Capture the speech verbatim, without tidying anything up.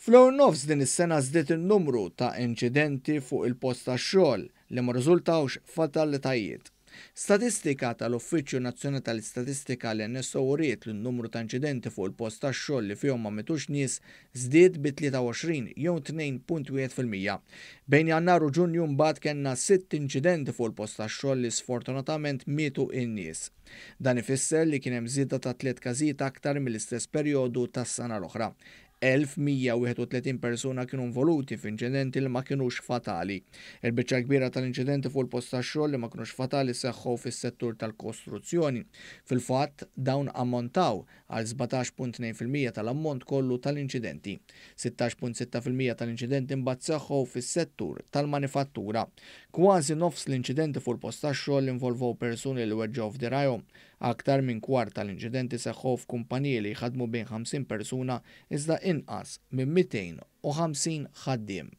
Fl-ewwel nofs din is-sena żdied in-numru ta' inċidenti fuq il-post tax-xogħol li ma rriżultawx f'fatalitajiet. Statistika tal-Uffiċċju Nazzjonali tal-Istatistika, l-N S O, uriet li n-numru ta' inċidenti fuq il-post tax-xogħol li fihom ma mitux nies żdied bi tlieta u għoxrin jew tnejn punt wieħed fil-mija. Bejn Jannar u Ġunju mbagħad kellna sitt inċidenti fuq il-post tax-xogħol li sfortunatament mietu in-nies. Dan ifisser li kien hemm żieda ta' tliet każijiet aktar mill-istess perjodu tas-sena l-oħra. elf u mija u wieħed u tletin persuna kienu involuti f'inċidenti li ma kinux fatali. Il-biċċa kbira tal-inċidenti fuq il-post tax-xogħol li ma kinux fatali seħħu fis-settur tal-kostruzzjoni. Fil-fatt, dawn ammontaw għal sbatax punt tnejn fil-mija tal-ammont kollu tal-inċidenti. sittax punt sitta fil-mija tal-inċidenti mbagħad seħħu fis-settur tal-manifattura. Kważi nofs l-inċidenti fuq il-post tax-xogħol involvow persuni li weġġgħu f'dirajhom. Aktar minn kwart tal-inċidenti seħħu f'kumpaniji li jħadmu bejn ħamsin persuna iżda inqas minn mitejn u ħamsin ħaddiem.